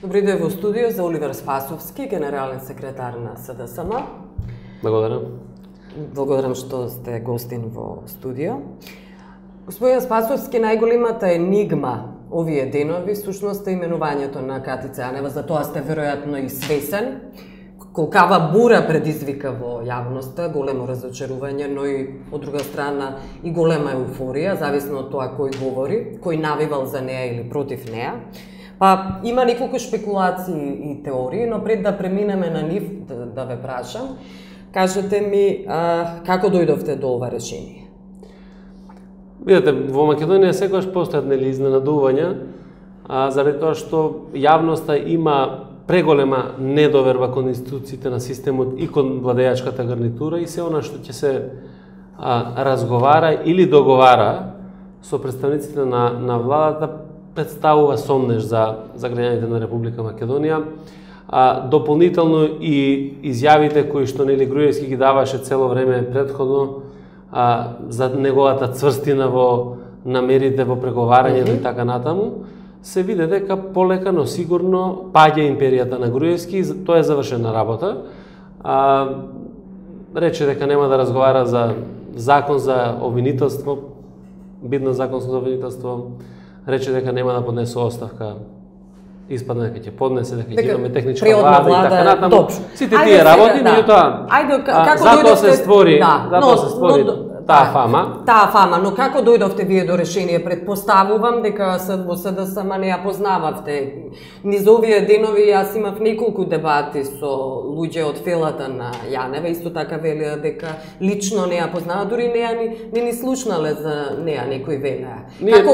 Добри ден во студио за Оливер Спасовски, генерален секретар на СДСМ. Благодарам. Благодарам што сте гостин во студио. Господин Спасовски, најголемата енигма овие денови всушност е именувањето на Катица Јанева, за тоа сте веројатно и свесен. Колкава бура предизвика во јавноста, големо разочарување, но и од друга страна и голема еуфорија, зависно од тоа кој говори, кој навивал за неа или против неа. Па има неколку шпекулации и теории, но пред да преминеме на нив, да ве прашам, кажете ми како дојдовте до ова решение? Видете, во Македонија секогаш постојат изненадувања, заради тоа што јавноста има преголема недоверба кон институциите на системот и кон владеачката гарнитура и се она што ќе се разговара или договара со представниците на владата представува сомнеж за граѓаните на Република Македонија. Дополнително и изјавите кои што Нели Груевски ги даваше цело време претходно за неговата цврстина во намерите во преговарањето и така натаму, се види дека полека, но сигурно паѓа империјата на Груевски, тоа е завршена работа. Рече дека нема да разговара за закон за обвинителство, бидно законско за обвинителство, рече дека нема да поднесе оставка, испадна дека ќе поднесе, дека ќе имаме техничка влада и така натаму. Сите тие работи, меѓутоа, затоа се створи таа фама. Таа фама, но како дојдовте вие до решение? Предпоставувам дека во СДСМ не ја познававте. Низ овие денови јас имав неколку дебати со луѓе од фелата на Јанева, исто така велеа дека лично не ја познава, дури не ни слушнале за неа, некој велеа.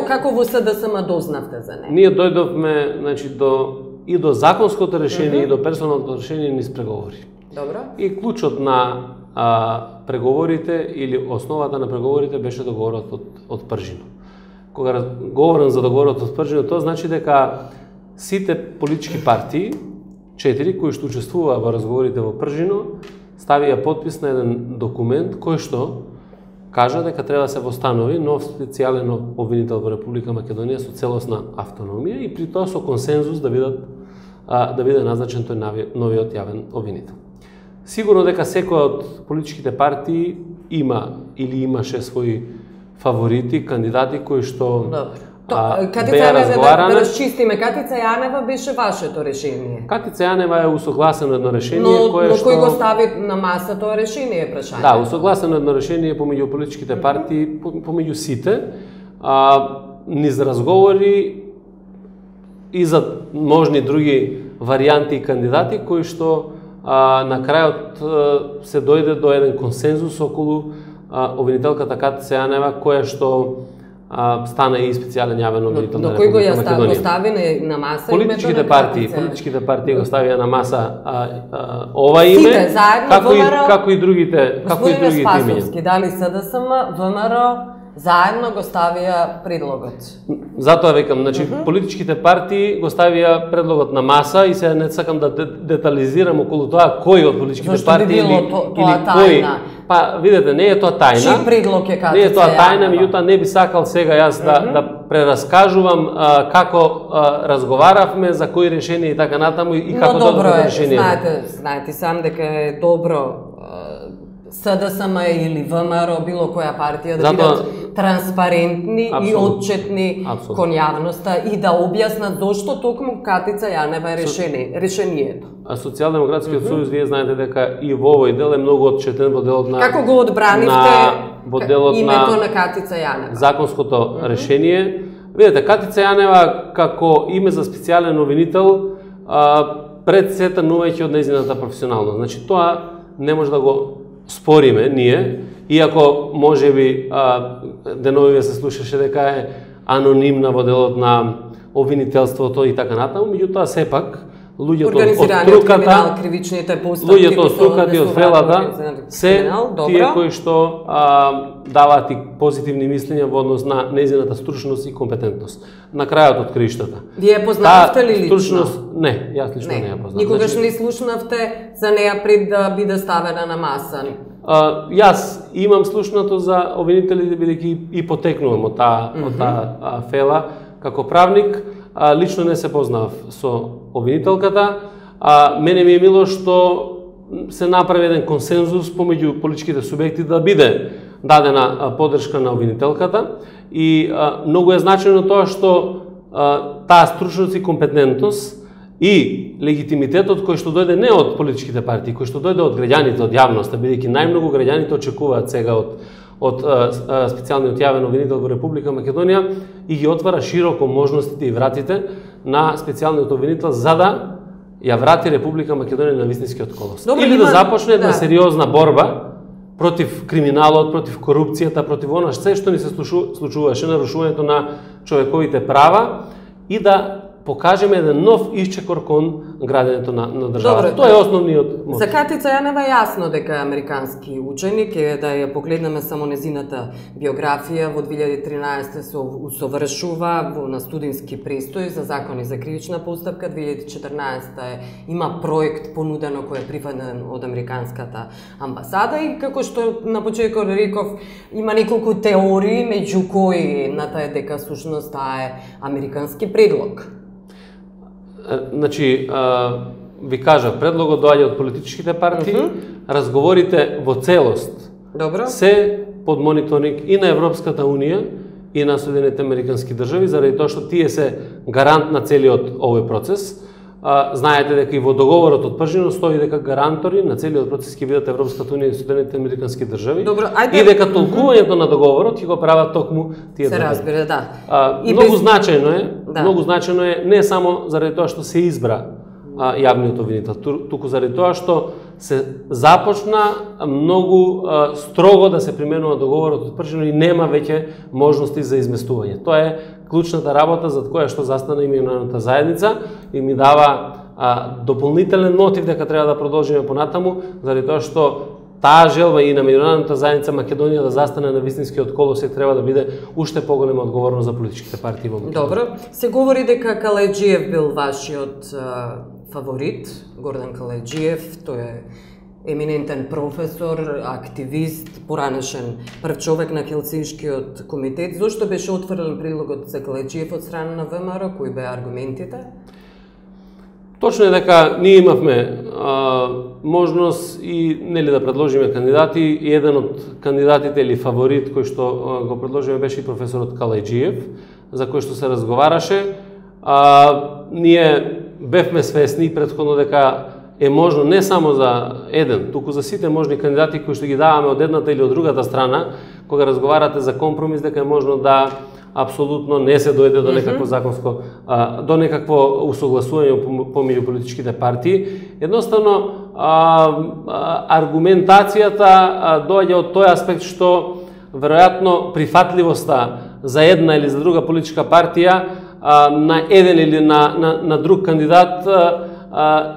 Како во СДСМ дознавте за неа? Ние дојдовме, значи, до законското решение и до персоналното решение низ преговори. Добро. И клучот на преговорите или основата на преговорите беше договорот од Пржино. Кога говорам за договорот од Пржино, тоа значи дека сите политички партии, 4 кои што учествуваа во разговорите во Пржино, ставија подпис на еден документ кој што кажа дека треба да се востанови нов специјален обвинител во Република Македонија со целосна автономија и при тоа со консензус да биде назначен тој новиот јавен обвинител. Сигурно дека секоја од политичките партии има или имаше своји фаворити, кандидати кои што беа разговарани. Да расчистиме, Катица Јанева беше вашето решение. Катица Јанева е усогласено едно решение кое што... Но кој го стави на маса тоа решение е прашање? Да, усогласено едно решение помеѓу политичките партии, помеѓу сите, низ разговори и за можни други варијанти и кандидати кои што на крајот се дојде до еден консензус околу обвинителката Катица Јанева, која што стана и специјален јавен обвинител на Република Македонија. Но кој го стави на маса политичките партии го ставија на маса ова име, како и другите имења. Спасовски, дали СДСМ, ВМРО заедно го ставија предлогот. Затоа векам, значи политичките партии го ставија предлогот на маса и се не сакам да детализирам околу тоа кој од политичките партии или кој. Па видете, не е тоа тајна. Чиј предлог е Катица Јанева? Не е тоа тајна, меѓутоа не би сакал сега јас да прераскажувам како разговаравме, за кои решение и така натаму и како дојдовме до решението. Знаете сам дека е добро СДСМ или ВМРО, било која партија да бидат транспарентни и отчетни кон јавноста и да објаснат зошто токму Катица Јанева е решението. А Социјалдемократскиот сојуз, вие знаете дека и во овој дел е многу отчетен во делот на... Како го одбранивте името на Катица Јанева? Законското решение. Видете, Катица Јанева како име за специјален обвинител пред сета нувајќи од нејзината професионалност. Значи тоа не може да го спориме ние, иако можеби деновиве се слушаше дека е анонимна во делот на обвинителството и така натаму, меѓутоа сепак луѓето од струката и од фелата се тие кои што даваат и позитивни мислења во однос на нејзината стручност и компетентност. На крајот од криштата. Вие познавате ли лично? Не, јас лично не ја познавам. Никогаш не слушнавте за неа пред да биде ставена на маса? Јас имам слушнато за обвинителите, бидејќи и потекнувам од таа фела како правник. лично не се познав со обвинителката. Мене ми е мило што се направи еден консензус помеѓу политичките субјекти да биде дадена поддршка на обвинителката и многу е значено тоа што таа стручност и компетентност и легитимитетот кој што дојде не од политичките партии, кој што дојде од граѓаните, од јавноста, бидејќи најмногу граѓаните очекуваат сега од специјалниот јавен обвинител во Република Македонија и ги отвара широко можностите и вратите на специјалниот обвинител за да ја врати Република Македонија на вистинскиот колос. Или да започне една сериозна борба против криминалот, против корупцијата, против она се што ни се случуваше, нарушувањето на човековите права и да покажеме еден нов исчекор кон градењето на државата. Тоа е основниот мотив. За Катица Јанева е јасно дека е американски ученик, да ја погледнеме само незината биографија. Во 2013 се усовршува на студентски престој за закони за кривична постапка, 2014 има проект понудено кој е прифатен од американската амбасада и како што на почетокот реков, има неколку теории меѓу кои едната е дека всушност таа е американски предлог. Значи, ви кажа, предлогот доаѓа од политичките партии, разговорите во целост се под мониторинг и на Европската Унија и на Соединетите Американски држави, заради тоа што тие се гарант на целиот овој процес. Знаете дека и во договорот од пржино стои дека гарантори на целиот процес ќе бидат Европската Унија и Соединетите Американски држави и дека толкувањето на договорот ќе го прават токму тие држави. Се разбира, да. Многу значено е не само заради тоа што се избра јавниот обвинител, туку заради тоа што се започна многу строго да се применува договорот од пржино и нема веќе можности за изместување. Тоа е клучната работа за која што застана и меѓународната заедница и ми дава дополнителен мотив дека треба да продолжиме понатаму, заради тоа што таа желба и на меѓународната заедница Македонија да застане на вистинскиот колосек треба да биде уште поголема одговорност за политичките партии во Македонија. Добро, се говори дека Калајџиев бил вашиот фаворит, Гордан Калајџиев, тој е еминентен професор, активист, поранешен прв човек на Хелсиншкиот комитет. Зошто беше отфрлен предлогот за Калајџиев од страна на ВМРО? Кои беа аргументите? Точно е дека ние имавме можност и нели да предложиме кандидати и еден од кандидатите или фаворит кој што го предложиме беше и професорот Калајџиев, за кој што се разговараше. Ние бевме свесни претходно дека е можно не само за еден, туку за сите можни кандидати кои што ги даваме од едната или од другата страна, кога разговарате за компромис, дека е можно да апсолутно не се дојде до некакво законско, до некакво усогласување помеѓу политичките партии. Едноставно, аргументацијата доаѓа од тој аспект што веројатно прифатливоста за една или за друга политичка партија на еден или на друг кандидат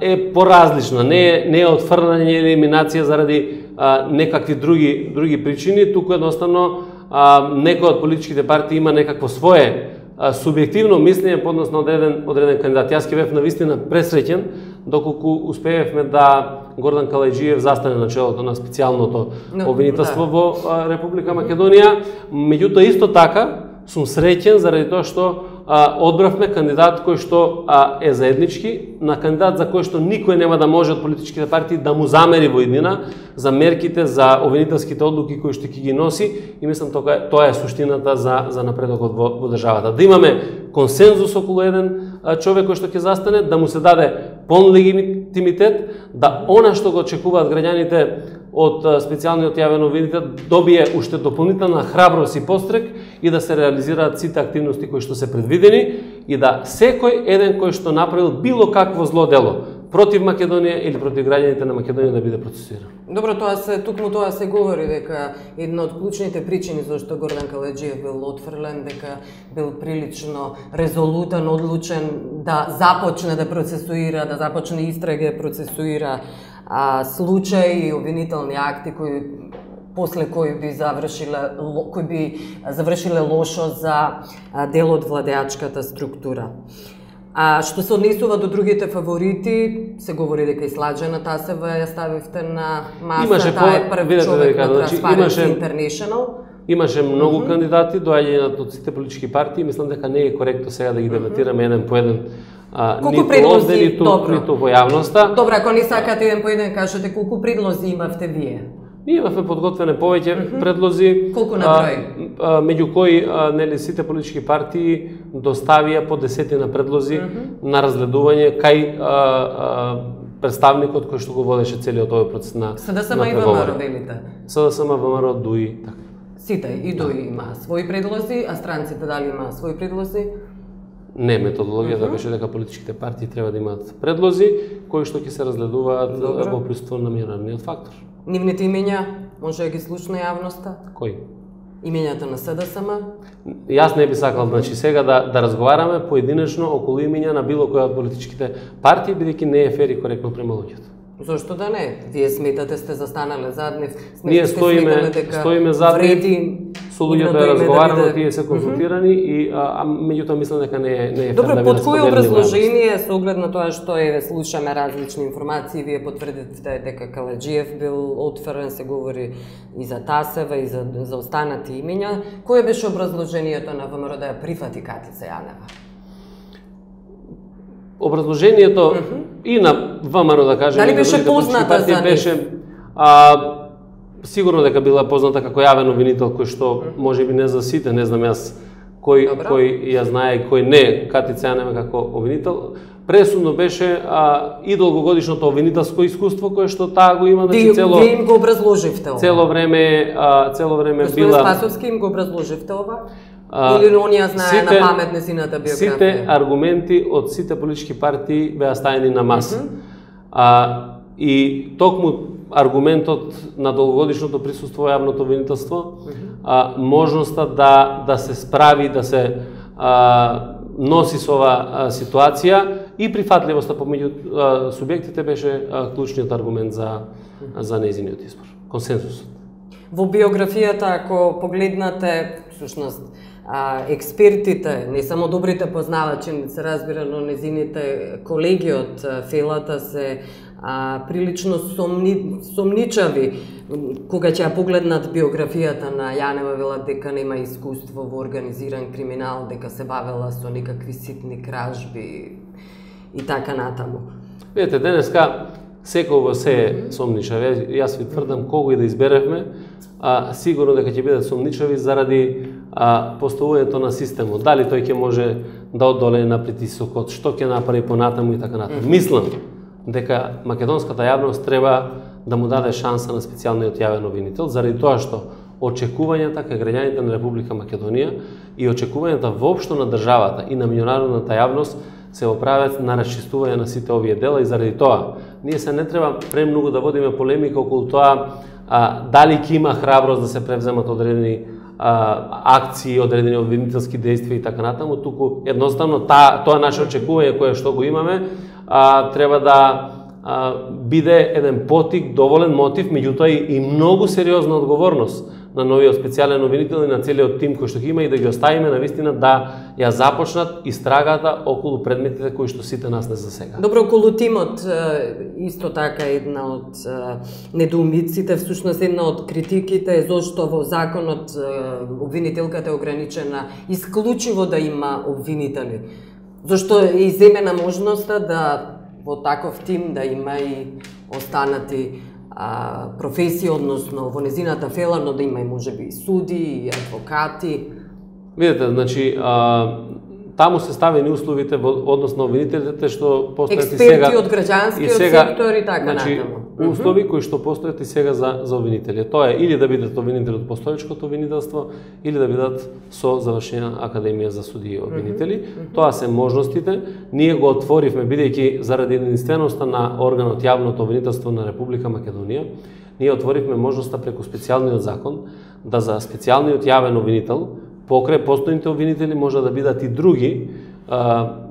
е поразлична, не е отфрлање или елиминација заради некакви други причини, туку едноставно некој од политичките партии има некакво свое субјективно мислење по однос на одреден кандидат. Јас ќе бев навистина пресреќен доколку успеевме да Гордан Калајџиев застане на челото на специјалното обвинителство во Република Македонија. Меѓутоа исто така сум среќен заради тоа што одбравме кандидат кој што е заеднички, на кандидат за кој што никој нема да може од политичките партии да му замери во иднина за мерките, за обвинителските одлуки кои што ќе ги носи и мислам тоа е суштината за напредокот во државата. Да имаме консензус околу еден човек кој што ќе застане, да му се даде полн легитимитет, да она што го очекуваат граѓаните од специјалниот јавен обвинител добие уште дополнителна храброст и пострек и да се реализираат сите активности кои што се предвидени и да секој еден кој што направил било какво зло дело против Македонија или против граѓаните на Македонија да биде процесиран. Добро, токму тоа се говори дека една од клучните причини зашто Гордан Калајџиев бил отфрлен, дека бил прилично резолутен, одлучен да започне да процесуира, да започне истрага, процесуира случаи и обвинителни акти кои после кои би завршиле лошо за дел од владеачката структура. Што се однесува до другите фаворити, се говори дека и Сладжана Тасева ја ставивте на масата, таа е прв човек на Transparency International. Имаше многу кандидати, доаѓаат од сите политички партии, мислам дека не е коректно сега да ги дебатираме еден по еден. Колку предлози, ниту во јавноста. Добро, ако не сакате еден по еден, кажете колку предлози имавте вие? Ние имавме подготвени повеќе предлози. Колку на број? Меѓу кои нели сите политички партии доставија по 10 предлози на разгледување кај представникот кој што го водеше целиот овој процес на СДСМ и ВМРО велите? СДСМ, ВМРО, ДУИ, така. Сите и ДУИ има своји предлози, а странците дали има своји предлози? Не, методологијата беше дека политичките партии треба да имаат предлози кои што ќе се разгледуваат во присуство на меѓународниот фактор. Нивните имења може да ги слушна јавноста? Кои? Имењата на СДСМ? Јас не би сакал, значи сега да разговараме поединечно околу имења на било која од политичките партии, бидејќи не е фер и коректно према луѓето. Зошто да не? Вие сметате сте застанале зад нив, ние стоиме зад нив, со луѓето да разговараме, тие се консултирани и меѓутоа мислам дека не е фер. Добро, под кој образложение со оглед на тоа што слушаме различни информации, вие потврдите дека Каладжиев бил отфрен, се говори и за Тасева и за останати имења, кое беше образложението на ВМРО да ја прифати Катица Јанева? Образложението и на ВМРО, да кажем, дали беше позната за беше сигурно дека била позната како јавен обвинител кој што можеби не за сите, не знам јас кој ја знае и кој не Катица Јанева како обвинител. Пресудно беше и долгогодишното обвинителско искуство кое што таа го има, значи вие им го образложивте ова. Цело време била. Господин Спасовски им го образложивте ова? Или оние знае на памет незината биографија? Сите аргументи од сите политички партии беа ставени на маса. И токму аргументот на долгогодишното присуство во јавното обвинителство, можноста да се справи, да се носи со ова ситуација и прифатливоста помеѓу субјектите беше клучниот аргумент за нејзиниот избор. Консенсусот. Во биографијата, ако погледнате, всушност, експертите, не само добрите познавачи, се разбира, но незините колеги од фелата се прилично сомничави кога ќе ја погледнат биографијата на Јанева, велат дека нема искуство во организиран криминал, дека се бавела со некакви ситни кражби и така натаму. Видете, денеска секој се сомничави. Јас ви тврдам, кого и да изберевме, сигурно дека ќе бидат сомничави заради поставувањето на системот. Дали тој ќе може да одолее на притисокот, што ќе направи понатаму и така натаму. Мислам дека македонската јавност треба да му даде шанса на специјалниот јавен обвинител, заради тоа што очекувањата кај граѓаните на Република Македонија и очекувањата воопшто на државата и на меѓународната јавност се оправат на расчистување на сите овие дела и заради тоа ние се не треба премногу да водиме полемика околу тоа дали ќе има храброст да се превземат одредени акции, одредени обвинителски действија и така натаму, туку едноставно тоа наше очекување кое што го имаме треба да биде еден потик, доволен мотив, меѓутоа и многу сериозна одговорност на новиот специјален обвинител и на целиот тим кој што ги има и да ги оставиме на вистина да ја започнат истрагата околу предметите кои што сите нас не засега. Добро, околу тимот исто така една од недоумиците, всушност една од критиките е зошто во законот обвинителката е ограничена исклучиво да има обвинители. Зошто е иземена можноста да во таков тим да има и останати професии, односно во незината фела, но да има и можеби суди и адвокати. Видете, значи таму се ставени условите односно обвинителите што постојат и сега. Експерти од граѓанскиот сектор и така натаму. Услови кои што постојат и сега за обвинители. Тоа е или да бидат обвинители од постоечкото обвинителство, или да бидат со завршена академија за судии и обвинители. Тоа се можностите. Ние го отворивме бидејќи заради единственоста на органот јавното обвинителство на Република Македонија, ние отворивме можноста преку специјалниот закон да за специјалниот јавен обвинител покрај постојните обвинители може да бидат и други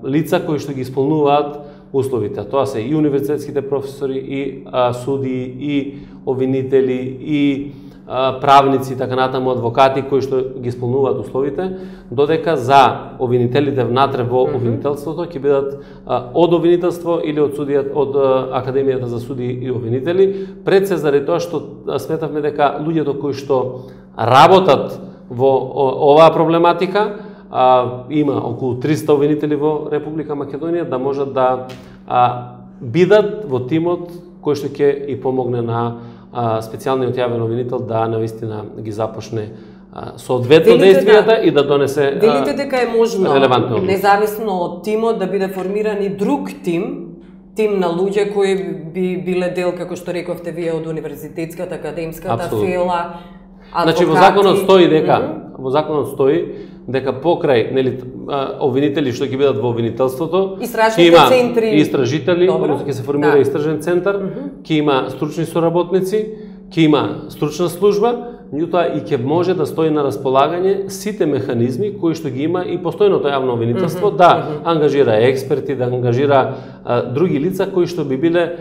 лица кои што ги исполнуваат условите. Тоа се и универзитетските професори, и судии, и обвинители, и правници, така натаму адвокати кои што ги исполнуваат условите, додека за обвинителите внатре во обвинителството ќе бидат од обвинителство или од судијат од Академијата за суди и обвинители, пред се заради тоа што сметавме дека луѓето кои што работат во оваа проблематика, има околу 300 обвинители во Република Македонија, да можат да бидат во тимот кој што ќе и помогне на специјалниот јавен обвинител да навистина ги започне соодветно действијата и да донесе велите дека е можно релевантно, независно од тимот да биде формиран и друг тим на луѓе кои би биле дел, како што рековте вие, од универзитетската, академската фела, адвокати. Значи во законот стои дека покрај, нели, обвинители што ќе бидат во обвинителството, ќе има истражители, одnosno ќе се формира истражен центар, ќе има стручни соработници, ќе има стручна служба, меѓутоа и ќе може да стои на располагање сите механизми кои што ги има и постојното јавно обвинителство, да ангажира експерти, да ангажира други лица кои што би биле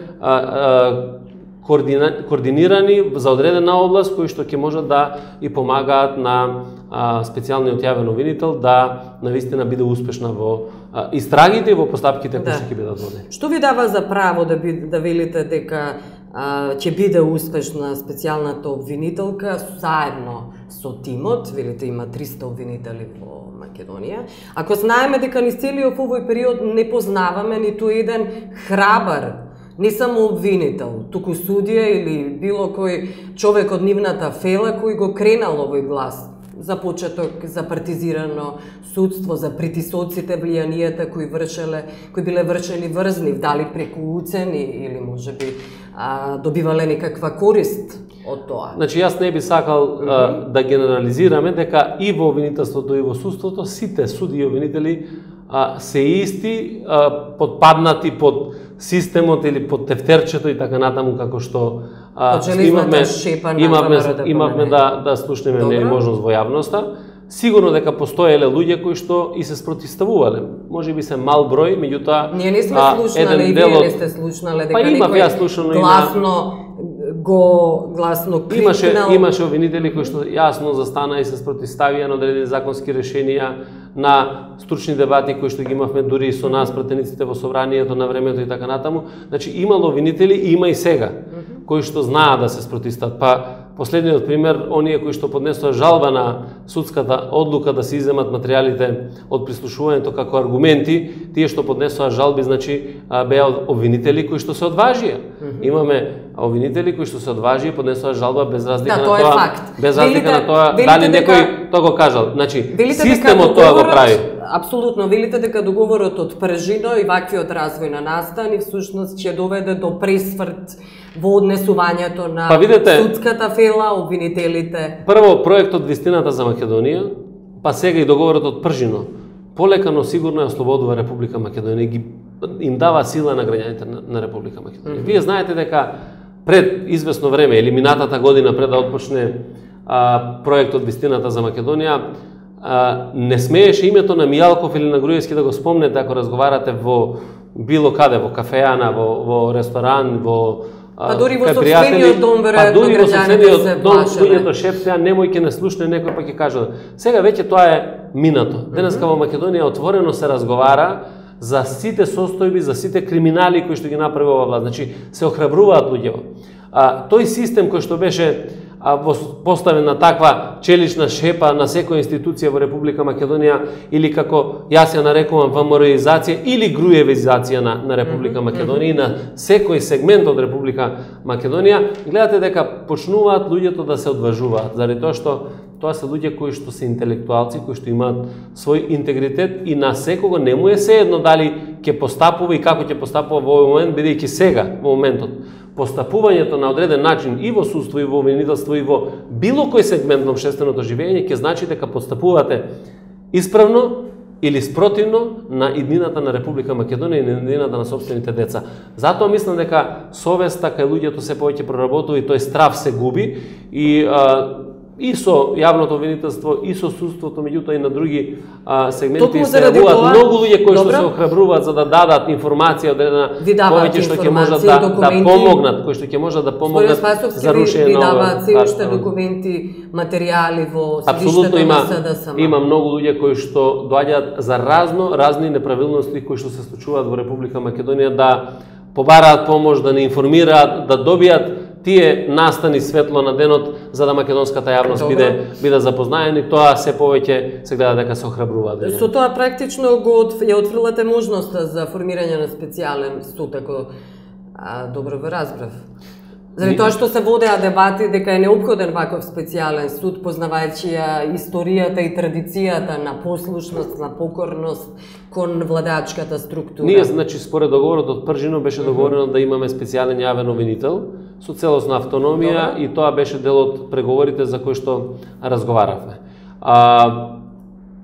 координирани за одредена област, кои што ќе можат да и помагаат на специјалниот јавен обвинител да навистина биде успешна во истрагите и во постапките кои ќе бидат водени. Што ви дава за право да велите дека ќе биде успешна специјалната обвинителка заедно со тимот? Велите има 300 обвинители во Македонија. Ако знаеме дека низ целиот овој период не познаваме ниту еден храбар, не само обвинител, туку судија или било кој човек од нивната фела кој го кренал овој глас за почеток, за партизирано судство, за притисоците, влијанијата кои биле вршени врз нив, дали преку уцени или можеби добивале некаква корист од тоа. Значи, јас не би сакал да генерализираме дека и во обвинителството и во судството сите суди и обвинители се исти, подпаднати под системот или под тефтерчето и така натаму, како што имавме да слушнеме неможност во јавноста. Сигурно дека постоеле луѓе кои што и се спротивставувале. Може би се мал број, меѓутоа ние не сме слушнале и вие не сте слушнале дека некој гласно крикнал. Имаше обвинители кои што јасно застана и се спротивставија на одредени законски решенија, на стручни дебати кои што ги имавме дури и со нас пратениците во собранието на времето и така натаму. Значи имало обвинители и има и сега кои што знаат да се спротивстават. Па последниот пример, оние кои што поднесоа жалба на судската одлука да се иземат материјалите од прислушувањето како аргументи, тие што поднесоа жалби, значи беа обвинители кои што се одважија. Имаме обвинители кои што се одважија и поднесоа жалба без разлика на тоа. Без разлика на тоа дали некој тоа го кажал. Значи системот тоа го прави. Апсолутно, велите дека договорот од Пржино и ваквиот развој на настани всушност ќе доведе до пресврт во однесувањето на судската фела, обвинителите. Прво, проектот Вистината за Македонија, па сега и договорот од Пржино, полека но сигурно ја ослободува Република Македонија и им дава сила на граѓаните на Република Македонија. Вие знаете дека пред известно време, или минатата година пред да отпочне проектот Вистината за Македонија, не смееше името на Мијалков или на Груевски да го спомнете ако разговарате во било каде, во кафејана, во ресторан, во па дури во собствениот дом веројатно граѓаните се плашеле. Луѓето шептеа, немој ќе не слушне, некој па ќе каже. Сега веќе тоа е минато. Денеска во Македонија отворено се разговара за сите состојби, за сите криминали кои што ги направи ова власт. Значи се охрабруваат луѓето. Тој систем кој што беше поставен на таква челична шепа на секоја институција во Република Македонија или како јас ја нарекувам ВМРизација или груевизација на Република Македонија и на секој сегмент од Република Македонија, гледате дека почнуваат луѓето да се одважуваат, заради тоа што тоа се луѓе кои што се интелектуалци, кои што имаат свој интегритет и на секого не му е сеедно дали ќе постапува и како ќе постапува во овој момент, бидејќи сега во моментот постапувањето на одреден начин и во судство, и во обвинителство, и во било кој сегмент на општественото живење ќе значи дека постапувате исправно или спротивно на иднината на Република Македонија и на иднината на сопствените деца. Затоа мислам дека совеста кај луѓето се повеќе проработува и тој страв се губи и и со јавното обвинителство, и со судството, меѓутоа и на други сегменти се јавуваат тоа... многу луѓе кои што се охрабруваат за да дадат информација одредена повеќе што ќе можат да помогнат, кои што ќе можат да помогнат за рушење на ова. Се уште документи, материјали во судиштата на СДСМ. Има многу луѓе кои што доаѓаат за разни неправилности кои што се случуваат во Република Македонија да побараат помош, да не информираат, да добијат тие настани светло на денот за да македонската јавност биде запознаена и тоа се повеќе се гледа дека се охрабруваат. Со тоа практично ја отфрлате можноста за формирање на специјален суд, ако добро ве разбрав. Заради тоа што се водеа дебати дека е неопходен ваков специјален суд, познавајќи ја историјата и традицијата на послушност, на покорност кон владачката структура. Ние, значи, според договорот од Пржино беше договорено да имаме специјален јавен обвинител со целосна автономија и тоа беше дел од преговорите за кои што разговаравме.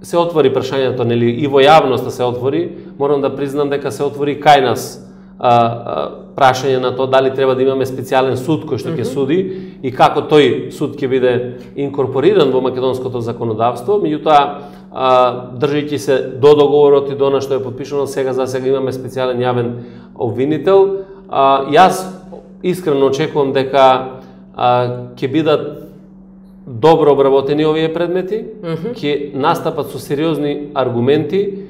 Се отвори прашањето, нели, и во јавноста се отвори, морам да признам дека се отвори кај нас прашање на тоа дали треба да имаме специјален суд кој што ќе суди и како тој суд ќе биде инкорпориран во македонското законодавство, меѓутоа држејќи се до договорот и до она што е потпишано, сега имаме специјален јавен обвинител. Јас искрено очекувам дека ќе бидат добро обработени овие предмети, ќе настапат со сериозни аргументи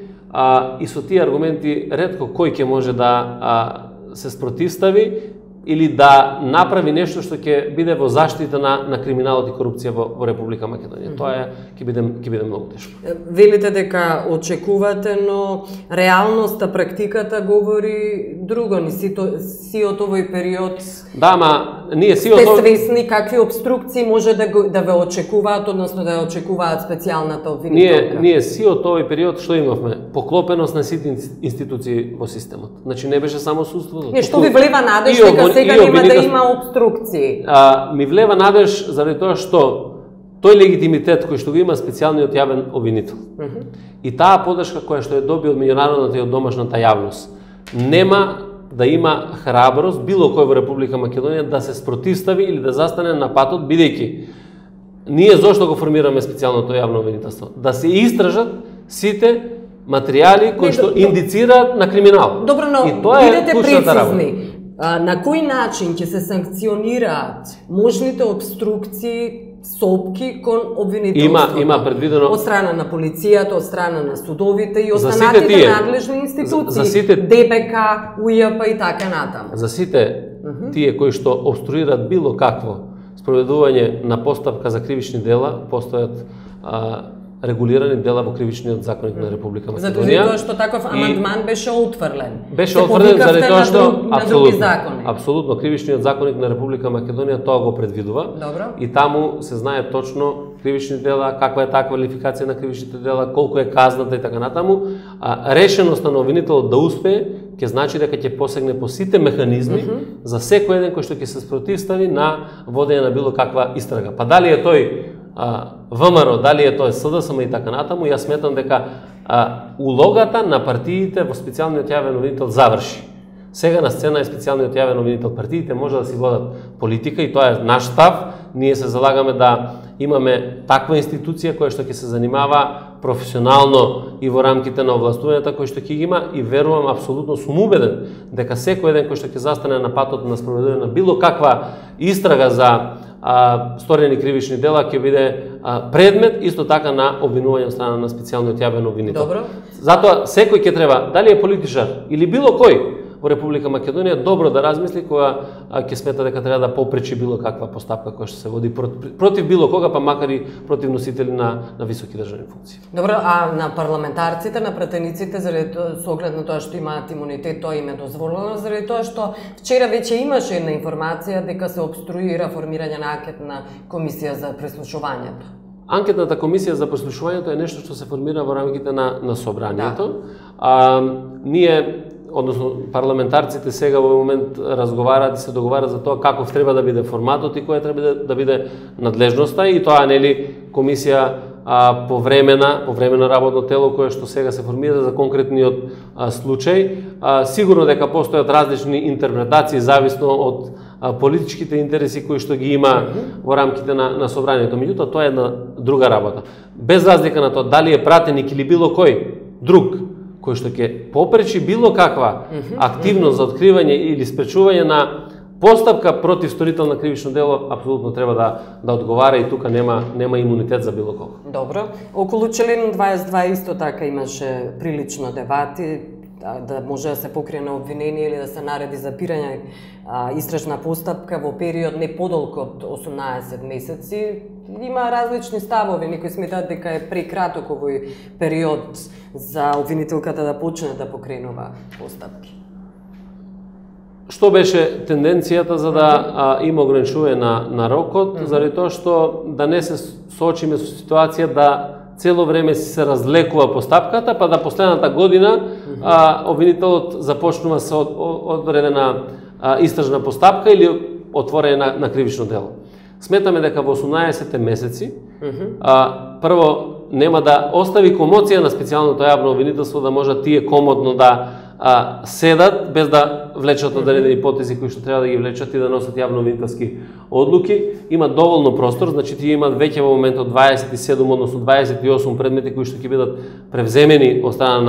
и со тие аргументи ретко кој ќе може да се спротивстави или да направи нешто што ќе биде во заштита на криминалот и корупција во Република Македонија. Тоа ќе биде многу тешко. Велите дека очекувате, но реалноста, практиката говори друго. Ни си од овој период ние си сте свесни какви обструкции може да ве очекуваат, односно да ја очекуваат специјалната обвинителка? Ние си од овој период што имавме? Поклопеност на сите институции во системот. Значи не беше само судството. Што ви влева надеж дека сега нема да има обструкции? Ми влева надеж заради тоа што тој легитимитет кој што го има специјалниот јавен обвинител и таа поддршка која што е доби од меѓународната и од домашната јавност нема да има храброст било кој во Република Македонија да се спротивстави или да застане на патот, бидејќи ние зошто го формираме специјалното јавно обвинителство? Да се истражат сите материјали кои што индицираат на криминал. Добро, но бидете прецизни. На кој начин ќе се санкционираат можните обструкции, сопки кон обвинителството? Има предвидено од страна на полицијата, од страна на судовите и останатите надлежни институции, ДБК, УЈП и така натаму. За сите тие кои што обструират било какво спроведување на постапка за кривични дела, постојат регулирани дела во кривичниот законник на Република Македонија. Затоа тоа што таков амандман беше отфрлен. Беше отфрлен заради тоа што апсолутно кривичниот законник на Република Македонија тоа го предвидува. Добро. И таму се знае точно кривични дела, каква е таа квалификација на кривичните дела, колку е казната и така натаму. Решеноста на обвинителот да успее ќе значи дека ќе посегне по сите механизми за секој еден кој што ќе се спротивстави на водење на било каква истрага. Па дали е тој ВМРО, дали е тоа СДСМ и така натаму, јас сметам дека улогата на партиите во специјалниот јавен обвинител заврши. Сега на сцена е специјалниот јавен обвинител. Партиите може да си водат политика и тоа е наш став. Ние се залагаме да имаме таква институција која што ќе се занимава професионално и во рамките на овластувањата кои што ќе ги има и верувам, апсолутно сум убеден дека секој еден кој што ќе застане на патот на спроведување на било каква истрага за сторени кривични дела ќе биде предмет исто така на обвинување од страна на специјалниот јавен обвинител. Добро. Затоа секој ќе треба, дали е политичар или било кој во Република Македонија, добро да размисли кога ќе смета дека треба да попречи било каква постапка која што се води против било кога, па макар и против носители на високи државни функции. Добро, а на парламентарците, на пратениците, заради со оглед на тоа што имаат имунитет, тоа им е дозволено, заради тоа што вчера веќе имаше една информација дека се обструира формирање на анкетна комисија за преслушувањето. Анкетната комисија за преслушувањето е нешто што се формира во рамките на собранието. Ние, односно парламентарците сега во момент разговараат и се договараат за тоа каков треба да биде форматот и која треба да биде надлежноста и тоа нели комисија повремено работно тело кое што сега се формира за конкретниот случај. Сигурно дека постојат различни интерпретации зависно од политичките интереси кои што ги има во рамките на собранието. Меѓутоа, тоа е една друга работа. Без разлика на тоа дали е пратеник или било кој друг кој што ќе попречи било каква активност за откривање или спречување на постапка против сторител на кривично дело, апсолутно треба да одговара и тука нема имунитет за било кого. Добро. Околу член 22 исто така имаше прилично дебати, да може да се покрие на обвинение или да се нареди запирање истражна постапка во период не подолг од 18 месеци. Има различни ставови, некои сметаат дека е прекраток овој период за обвинителката да почне да покренува постапки. Што беше тенденцијата за да има ограничување на рокот, заради тоа што да не се соочиме со ситуација да цело време се разлекува постапката, па да последната година обвинителот започнува со одредена истражна постапка или отворење на кривично дело. Сметаме дека во 18 месеци прво нема да остави комоција на специјалното јавно обвинителство да може тие комодно да седат без да влечат одредени потези кои што треба да ги влечат и да носат јавно-обвинителски одлуки. Има доволно простор, значи тие имаат веќе во моментот 27, односно 28 предмети кои што ќе бидат превземени од страна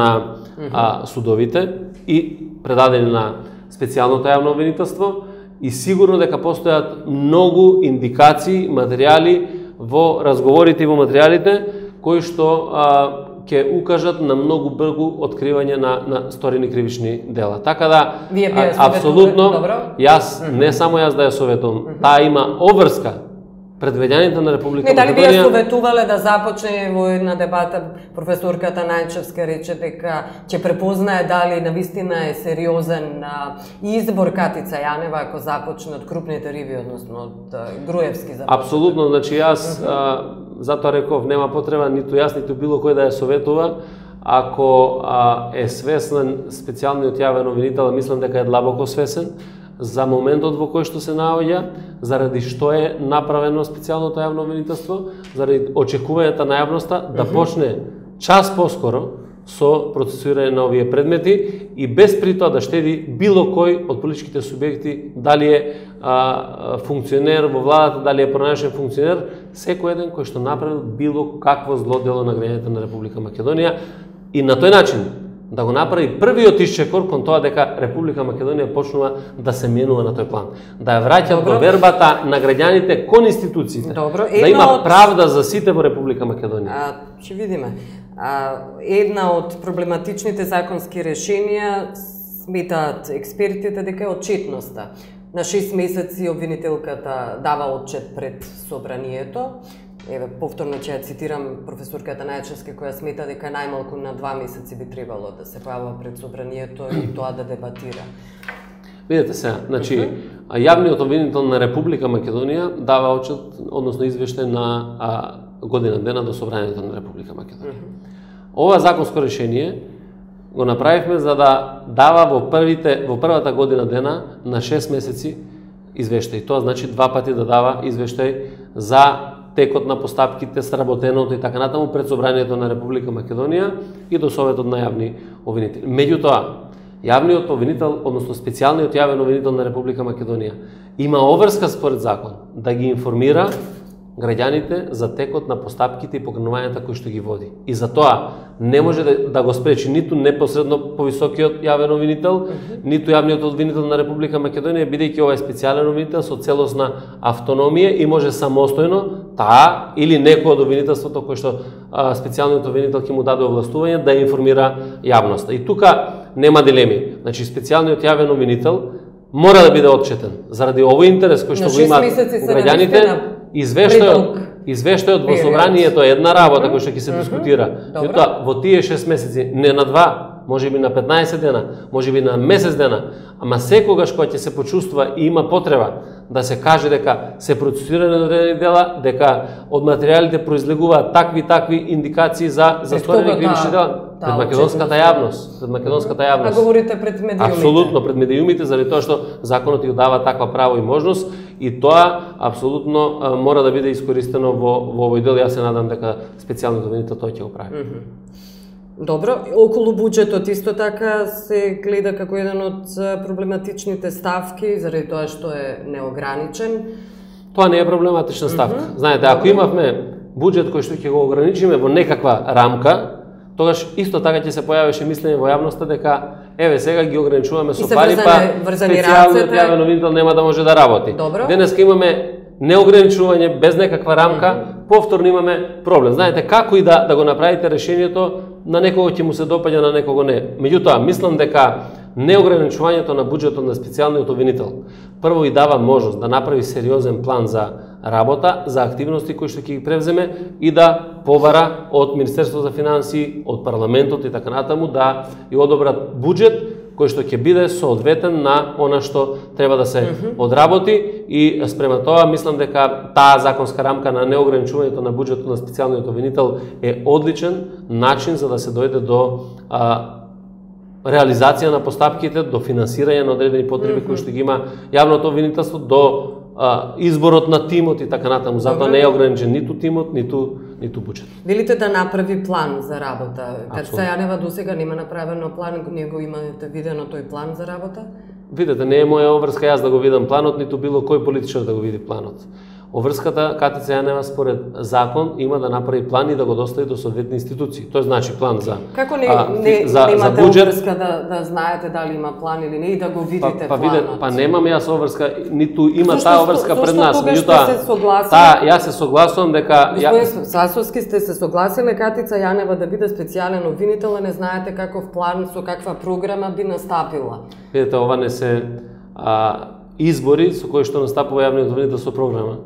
на судовите и предадени на специјалното јавно обвинителство, и сигурно дека постојат многу индикации, материјали во разговорите и во материјалите кои што ќе укажат на многу брзо откривање на сторени кривични дела. Така да, апсолутно, јас, не само јас да ја советувам, таа има обврска пред граѓаните на Република Македонија. Дали вие советувале да започне во една дебата, професорката Најчевска рече дека ќе препознае дали навистина е сериозен избор Катица Јанева ако започне од крупните риби, односно од Груевски започне. Апсолутно, значи јас затоа реков нема потреба ниту јас ниту било кој да ја советува. Ако е свесен специјалниот јавен обвинител, мислам дека е длабоко свесен за моментот во кој што се наоѓа, заради што е направено специјалното јавно обвинителство, заради очекувањата на јавноста да почне час поскоро со процесуирање на овие предмети и без при тоа да штеди било кој од политичките субјекти, дали е функционер во владата, дали е пронајден функционер, секој еден кој што направил било какво зло дело на граѓаните на Република Македонија и на тој начин да го направи првиот исчекор кон тоа дека Република Македонија почнува да се менува на тој план. Да ја враќа довербата на граѓаните кон институциите. Да има правда за сите во Република Македонија. Ќе видиме. Една од проблематичните законски решенија сметаат експертите дека е отчетноста. На 6 месеци обвинителката дава отчет пред собранието. Еве, повторно ќе ја цитирам професорката Најчевска, која смета дека најмалку на 2 месеци би требало да се појавува пред собранието и тоа да дебатира. Видете сега, значи, јавниот обвинител на Република Македонија дава отчет, односно извештај на година дена до собранието на Република Македонија. Ова законско решение го направивме за да дава во првата година дена на 6 месеци извештај. Тоа значи 2 пати да дава извештај за текот на постапките, сработеното и така натаму пред собранието на Република Македонија и до Советот на јавни обвинители. Меѓутоа, јавниот обвинител, односно специјалниот јавен обвинител на Република Македонија има обврска според закон да ги информира граѓаните за текот на постапките и покренувањата кои што ги води. И за тоа не може да го спречи ниту непосредно повисокиот јавен обвинител, ниту јавниот обвинител на Република Македонија, бидејќи ова е специјален обвинител со целосна автономија и може самостојно таа или некој од обвинителството кој што специјалниот обвинител ќе му даде овластување да информира јавноста. И тука нема дилеми. Значи специјалниот јавен обвинител мора да биде отчетен заради овој интерес кој што го имаат граѓаните. Извештајот во собранието е една работа која што ќе се дискутира. Меѓутоа, во тие 6 месеци, не на 2, можеби на 15 дена, можеби на месец дена, ама секогаш кога ќе се почувствува и има потреба да се каже дека се процесирани одредени дела, дека од материјалите произлегуваат такви индикации за сторени кривични дела, пред македонската јавност, А говорите пред медиумите? Апсолутно пред медиумите, заради тоа што законот ја дава таква право и можност и тоа апсолутно мора да биде искористено во овој дел. Јас се надам дека специјалниот обвинител тоа ќе го прави. Добро, околу буџетот исто така се гледа како еден од проблематичните ставки, заради тоа што е неограничен. Тоа не е проблематична ставка. Знаете, ако имавме буџет кој што ќе го ограничиме во некаква рамка, тогаш исто така ќе се појавеше мислење во јавноста дека еве сега ги ограничуваме со пари, па специјалниот јавен обвинител нема да може да работи. Денеска имаме неограничување без некаква рамка, повторно имаме проблем. Знаете, како и да го направите решението, на некого ќе му се допаѓа, на некого не. Меѓутоа, мислам дека неограничувањето на буџетот на специјалниот обвинител прво и дава можност да направи сериозен план за работа, за активности кои што ќе ги превземе и да побара од Министерството за финансии, од парламентот и така натаму да ја одобрат буџет кој што ќе биде соодветен на она што треба да се одработи, и спрема тоа мислам дека таа законска рамка на неограничувањето на буџетот на специјалниот обвинител е одличен начин за да се дојде до реализација на постапките, до финансирање на одредени потреби кои што ги има јавното обвинителство, до изборот на тимот и така натаму. Затоа не е ограничен ниту тимот, ниту буџет. Велите да направи план за работа. Катица Јанева досега нема направено план, ние го имате видено тој план за работа? Видете, не е моја обврска јас да го видам планот, ниту било кој политичар да го види планот. Обврската Катица Јанева според закон има да направи план и да го достави до соодветни институции. Тој значи план за Како немате обврска да знаете дали има план или не и да го видите планот? Па немам јас обврска, ниту има таа обврска пред нас. Јас се согласувам дека Господин Сасовски, сте се согласиле Катица Јанева да биде специјален обвинител, а не знаете каков план со каква програма би настапила. Видете, ова не се избори со кои што настапува јавниот обвинител со програма.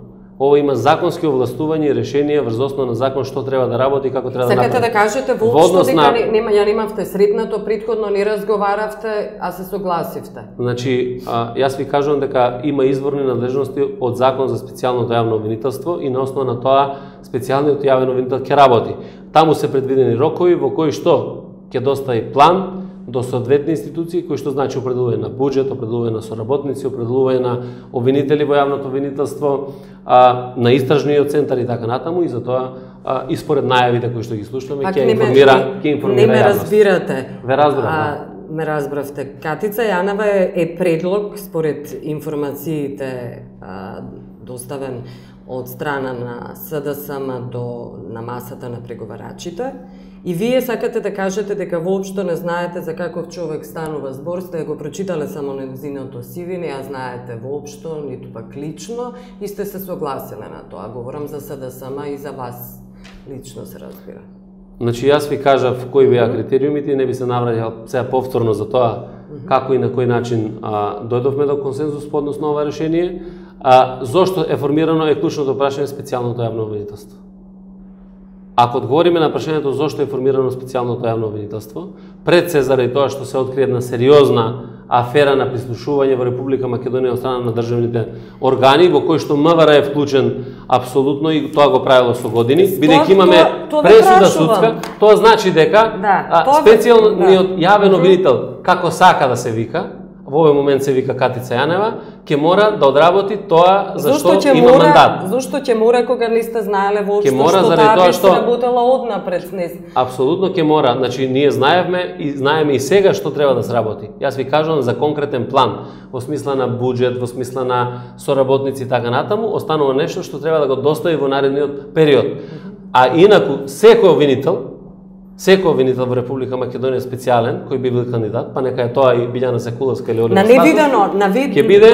Ова има законски овластувања и решенија врз основа на закон што треба да работи и како треба да направи. Сакате да кажете воопшто дека ја немавте сретнато, претходно не разговаравте, а се согласивте? Значи, јас ви кажувам дека има изворни надлежности од закон за специјалното јавно обвинителство и на основа на тоа специјалниот јавен обвинител ќе работи. Таму се предвидени рокови во кои што ќе достави план до соодветни институции, кои што значи определување на буџет, определување на соработници, определување на обвинители во јавното обвинителство, на истражниот центар и така натаму, и затоа и според најавите кои што ги слушаме ќе информира Не ме разбирате. Ве разбирам. Ме разбравте. Катица Јанева е предлог според информациите доставен од страна на СДСМ на масата на преговарачите. И вие сакате да кажете дека воопшто не знаете за каков човек станува збор, сте го прочитале само нејзиното CV, не ја знаете воопшто, ниту пак лично, и сте се согласиле на тоа. Говорам за СДСМ и за вас лично се разбира. Значи, јас ви кажав кои беа критериумите и не би се навраќал сега повторно за тоа како и на кој начин дојдовме до консензус по однос на ова решение. Зошто е формирано е клучното прашање специјалното јавно обвинителство. Ако одговориме на прашањето зошто е формирано специјалното јавно обвинителство, пред се заради тоа што се откри една сериозна афера на прислушување во Република Македонија од страна на државните органи, во кој што МВР е вклучен апсолутно и тоа го правило со години, бидејќи имаме пресуда судска, тоа значи дека специјалниот јавен обвинител, како сака да се вика, во овој момент се вика Катица Јанева, ќе мора да одработи тоа за што има мандат. Зошто ќе мора кога не сте знаеле воопшто што таа би се работела однапред низ? Апсолутно ќе мора. Значи, ние знаеме и сега што треба да се работи. Јас ви кажувам за конкретен план, во смисла на буџет, во смисла на соработници и така натаму, останува нешто што треба да го достави во наредниот период. А инаку, секој обвинител во Република Македонија специјален, кој би бил кандидат, па нека е тоа и Билјана Секуловска или Оливер Спасов, ќе биде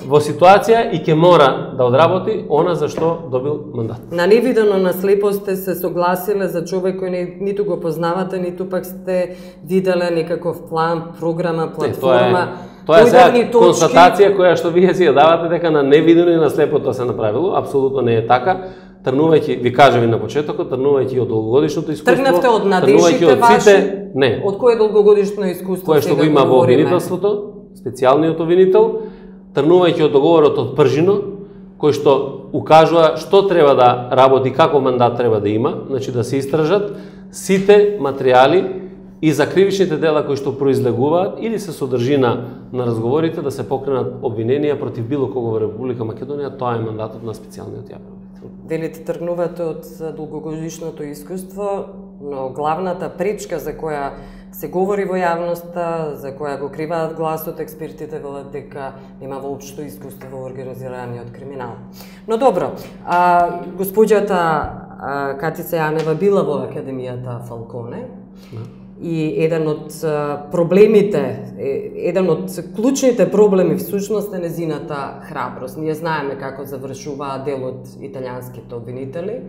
во ситуација и ќе мора да одработи она за што добил мандат. На невидено на слепо сте се согласиле за човек кој ниту го познавате, ниту пак сте виделе некаков план, програма, платформа. Тоа е сега констатација која што вие си ја давате дека на невидено и на слепо тоа се направило, апсолутно не е така. Тргнувајќи, ви кажав и на почетокот, тргнувајќи од долгогодишното искуство, тргнавте од надежите ваши, не. Од кое долгогодишно искуство кое што го има во обвинителството, специјалниот обвинител, тргнувајќи од договорот од Пржино, кој што укажува што треба да работи, како мандат треба да има, значи да се истражат сите материјали и за кривичните дела кои што произлегуваат или се содржина на разговорите да се покренат обвиненија против било кого во Република Македонија, тоа е мандатот на специјалниот јавен обвинител. Велите тргнувате од долгогодишното искуство, но главната пречка за која се говори во јавноста, за која го криваат гласот, експертите велат дека нема воопшто искуство во организираниот криминал. Но добро, госпоѓата Катица Јанева била во Академијата Фалконе и еден од проблемите, еден од клучните проблеми всушност е незината храброст. Ние знаеме како завршуваа делот италијанските обвинители.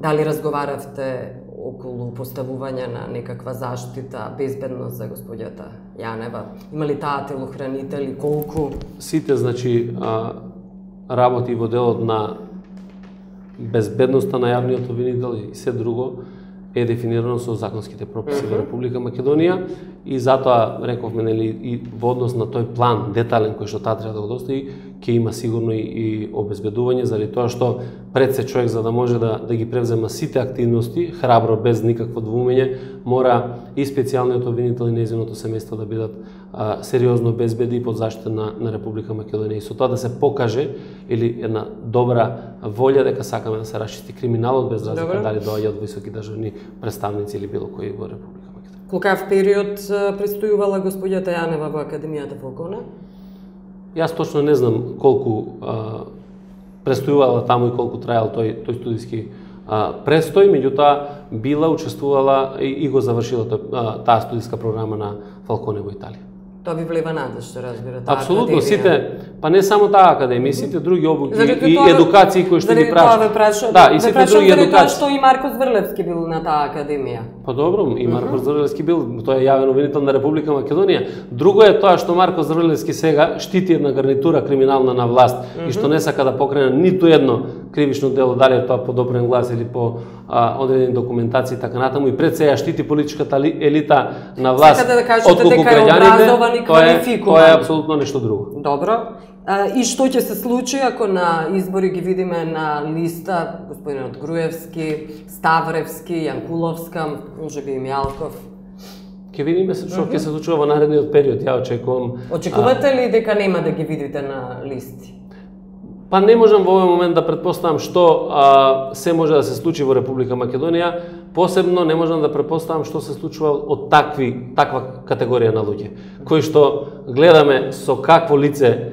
Дали разговаравте околу поставување на некаква заштита, безбедност за господјата Јанева? Има ли таа телохранители, колку? Сите, значи, работи во делот на безбедноста на јавниот обвинител и се друго е дефинирано со законските прописи во Република Македонија и затоа рековме, нели, и во однос на тој план детален кој што таа треба да го достави, ќе има сигурно и обезбедување, заради тоа што пред се човек за да може да ги превзема сите активности, храбро, без никакво двумење, мора и специјалниот обвинител и нејзиното семејство да бидат сериозно безбедни и под заштита на Република Македонија. И со тоа да се покаже или една добра волја дека сакаме да се расчисти криминалот, без разлика дали доаѓаат високи државни представници или било кој во Република Македонија. Колкав период престојувала господјата Јанева во Академијата Фалконе? Јас точно не знам колку престојувала таму и колку трајал тој студиски престој, меѓутоа била учествувала и го завршила таа студиска програма на Фалконе во Италија. Тоа ви влева надеж, што разбира, таа апсолутно, академија. сите, па не само таа академија, сите други обуки и едукации кои што ги прашаат. Да, и сите други едукации. Што и Марко Зврлевски бил на таа академија. Па добро, и Марко Зврлевски бил, тој е јавен обвинител на Република Македонија. Друго е тоа што Марко Зврлевски сега штити една гарнитура криминална на власт и што не сака да покрене ниту едно кривично дело, дали е тоа по добрен глас или по одредени документации така натаму, и пред се ја штити политичката елита на власт. Сакате да кажете дека е образован и квалификуван. Тоа е апсолутно нешто друго. Добро. И што ќе се случи ако на избори ги видиме на листа господинот Груевски, Ставревски, Јанкуловска, можеби и Мјалков? Ќе видиме што ќе се случува во наредниот период. Ја очекувам. Очекувате ли дека нема да ги видите на листи? Па не можам во овој момент да претпоставам што се може да се случи во Република Македонија, посебно не можам да претпоставам што се случува од таква категорија на луѓе, кои што гледаме со какво лице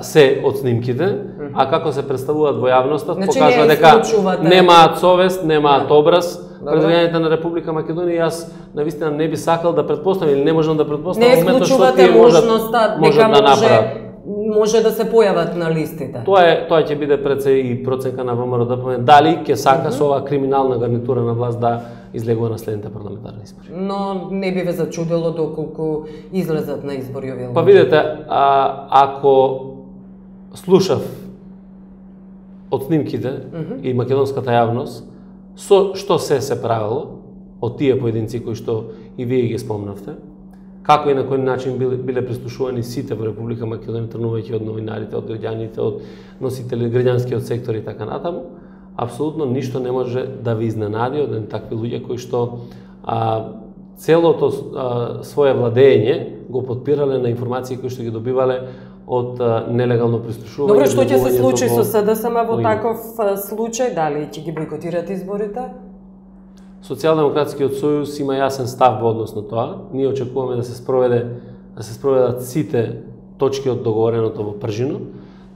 се од снимките, а како се представуваат во јавноста, покажува дека немаат совест, немаат образ пред граѓаните на Република Македонија. Јас навистина не би сакал да претпоставам или не можам да претпоставам не исклучувате можноста дека може да се појават на листите. Тоа ќе биде пред се и проценка на ВМРО-ДПМН дали ќе сака со оваа криминална гарнитура на власт да излегува на следните парламентарни избори. Но не би ве зачудило доколку излезат на избори овие луѓе. Па видете, ако слушав од снимките и македонската јавност со што се правило од тие поединци кои што и вие ги спомнавте, како и на кој начин биле прислушувани сите во Република Македонија, тргнувајќи од новинарите, од граѓаните, од носители граѓанскиот сектор и така натаму, апсолутно ништо не може да ви изненади од такви луѓе кои што целото свое владење го подпирале на информации кои што ги добивале од нелегално прислушување. Добро, што ќе се случи со СДСМ во таков случај? Дали ќе ги бойкотират изборите? Социјалдемократскиот сојуз има јасен став во однос на тоа. Ние очекуваме да се спроведат сите точки од договореното во Пржино,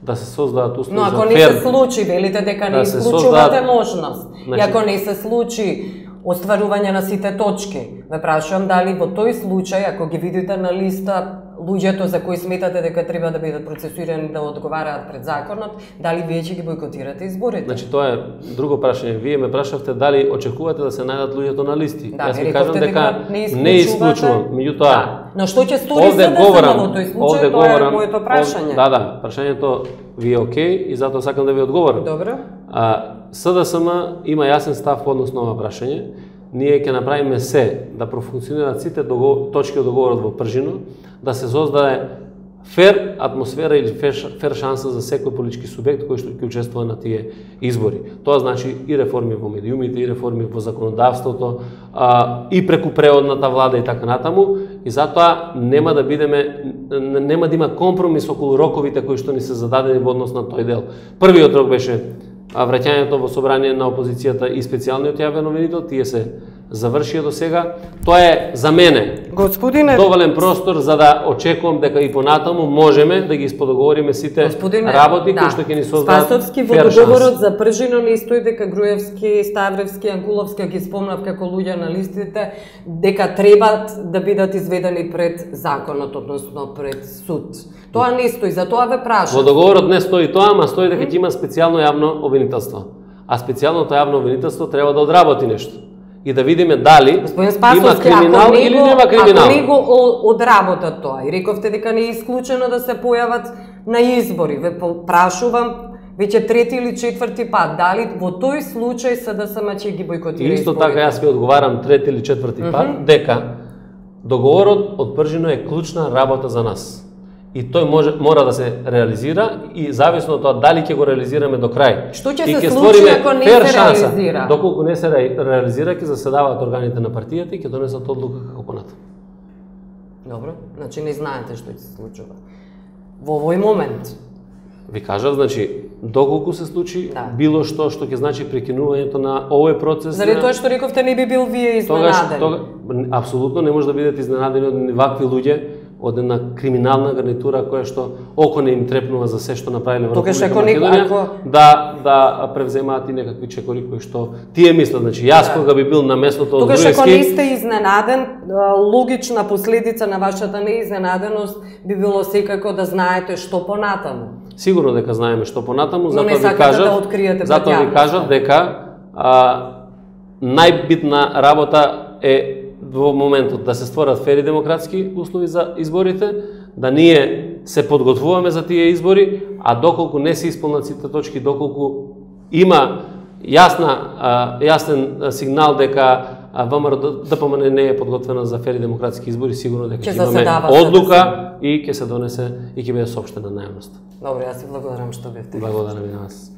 да се создадат услови за фер. Но ако не се случи, велите дека не исклучувате можност. И ако не се случи остварување на сите точки, ве прашувам дали во тој случај, ако ги видите на листа луѓето за кои сметате дека треба да бидат процесуирани да одговараат пред законот, дали вие ќе ги бойкотирате изборите? Значи тоа е друго прашање. Вие ме прашавте дали очекувате да се најдат луѓето на листи. Да, јас ви кажам дека не исклучувам. Меѓутоа, да. Но што ќе стори СДСМ во тој случај? Тоа е моето прашање. Да, прашањето ви е окей и затоа сакам да ви одговорам. Добро. СДСМ има јасен став по однос на ова прашање. Ние ќе направиме се да профункционираат сите точки од договорот во Пржино, да се создаде фер атмосфера или фер шанса за секој политички субјект кој што ќе учествува на тие избори. Тоа значи и реформи во медиумите, и реформи во законодавството, и преку преодната влада и така натаму, и затоа нема да има компромис околу роковите кои што ни се зададени во однос на тој дел. Првиот рок беше враќањето во собрание на опозицијата и специјалниот јавен обвинител, тие се завршија до сега. Тоа е за мене доволен простор за да очекувам дека и понатаму можеме да ги исподоговориме сите работи кои што ќе ни создадат Спасовски во договорот за пржино не стои дека Груевски, Ставревски, Анкуловски ги спомнав како луѓе на листите дека требат да бидат изведени пред законот, односно пред суд. Тоа не стои, затоа ве прашам. Во договорот не стои тоа, ама стои дека ќе има специјално јавно обвинителство. А специјалното јавно обвинителство треба да одработи нешто и да видиме дали има криминал или нема криминал. Ако него одработат тоа и рековте дека не е исклучено да се појават на избори, ве прашувам веќе трети или четврти пат, дали во тој случај СДСМ ќе ги бојкотира изборите? Исто така јас ви одговарам трети или четврти пат дека договорот од пржино е клучна работа за нас. И тој мора да се реализира и зависно од тоа дали ќе го реализираме до крај. Што ќе се случи ако не се реализира? Доколку не се реализира, ќе заседаваат органите на партијата и ќе донесат одлука како понатаму. Добро, значи не знаете што ќе се случува. Во овој момент. Ви кажав, значи, доколку се случи било што ќе значи прекинувањето на овој процес. Заради тоа што рековте не би бил вие изненадени. Апсолутно не може да бидете изненадени од вакви луѓе, од една криминална гарнитура која што око не им трепнува за се што направиле во Република Македонија, да превземаат и некакви чекори кои што тие мислат. Значи, јас кога би бил на местото од Груевски... Тогаш ако не сте изненаден, логична последица на вашата неизненаденост би било секако да знаете што понатаму. Сигурно дека знаеме што понатаму, затоа ви кажав дека најбитна работа е во моментот да се створат фери демократски услови за изборите, да ние се подготвуваме за тие избори, а доколку не се исполнат сите точки, доколку има јасен сигнал дека ВМРО-ДПМН не е подготвена за фери демократски избори, сигурно дека ќе имаме одлука и ќе се донесе и ќе биде соопштена на јавноста. Добро, јас ви благодарам што бевте. Благодарам и на вас.